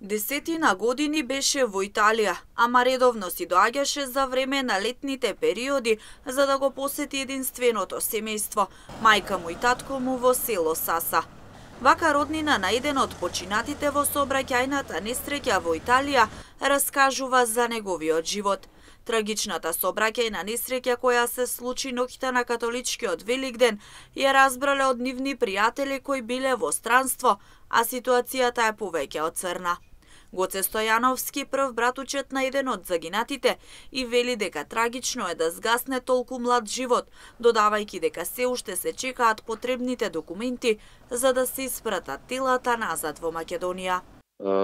Десетина години беше во Италија, ама редовно си доаѓаше за време на летните периоди за да го посети единственото семејство, мајка му и татко му во село Саса. Вака роднина на еден од починатите во сообраќајната несреќа во Италија раскажува за неговиот живот. Трагичната сообраќајна несреќа која се случи ноќта на католичкиот Великден ја разбрале од нивни пријатели кои биле во странство, а ситуацијата е повеќе од црна. Гоце Стојановски, прв братучет на еден од загинатите, и вели дека трагично е да згасне толку млад живот, додавајќи дека се уште се чекаат потребните документи за да се испратат телата назад во Македонија.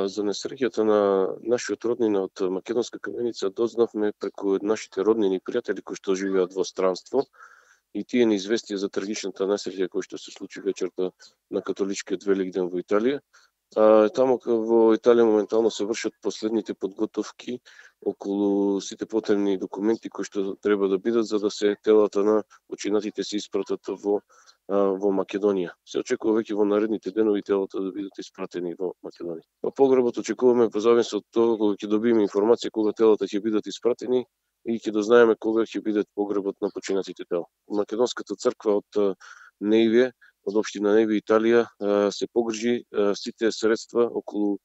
За несреќата на нашиот роднина од Македонска Каменица дознавме преку нашите роднини и пријатели кои што живеат во странство и тие ни известија за трагичната несреќа која што се случи вечерта на католичкиот Великден во Италија. Таму во Италија моментално се вршат последните подготовки околу сите потребни документи кои што треба да бидат за да се телата на починатите се испратат во Македонија. Се очекува веќе во наредните денови телата да бидат испратени во Македонија. По погребот очекуваме по зависи од тоа кога ќе добиеме информација кога телата ќе бидат испратени и ќе дознаеме кога ќе биде погребот на починатите тела. Македонската црква од Неиве, од општина Неиве, Италија, се погрижи сите средства околу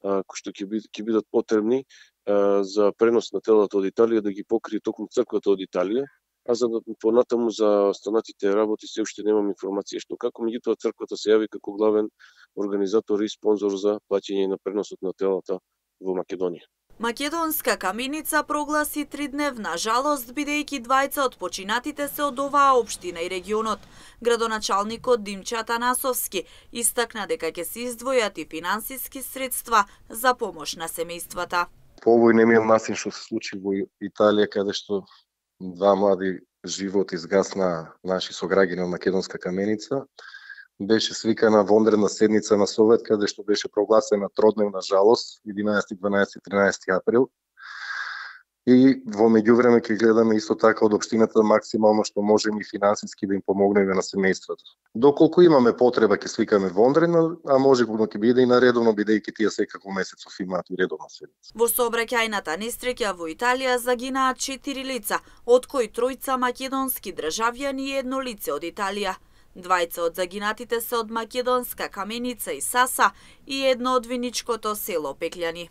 кои што ќе бидат потребни за пренос на телата од Италија да ги покрие токму црквата од Италија, а за да понатаму за останатите работи се уште немам информација што како, меѓутоа црквата се јави како главен организатор и спонзор за плаќање на преносот на телата во Македонија. Македонска Каменица прогласи 3-дневна жалост, бидејќи двајца од починатите се од оваа општина и регионот. Градоначалникот Димче Атанасовски истакна дека ќе се издвојат и финансиски средства за помош на семејствата. По овој немил начин што се случи во Италија, каде што два млади животи изгасна наши сограѓани од Македонска Каменица, беше свикана вонредна седница на Совет, каде што беше прогласена тродневна жалост 11, 12, 13 април. И во меѓувреме ќе гледаме исто така од општината максимално што можеме и финансиски да им помогнеме на семејството. Доколку имаме потреба ќе свикаме вонредна, а можеби ќе биде и наредовно, бидејќи тие секако месецов имаат и редовна седница. Во сообраќајната несреќа во Италија загинаат 4 лица, од кои 3 македонски државјани и 1 лице од Италија. Двајца од загинатите се од Македонска Каменица и Саса и едно од виничкото село Пеклјани.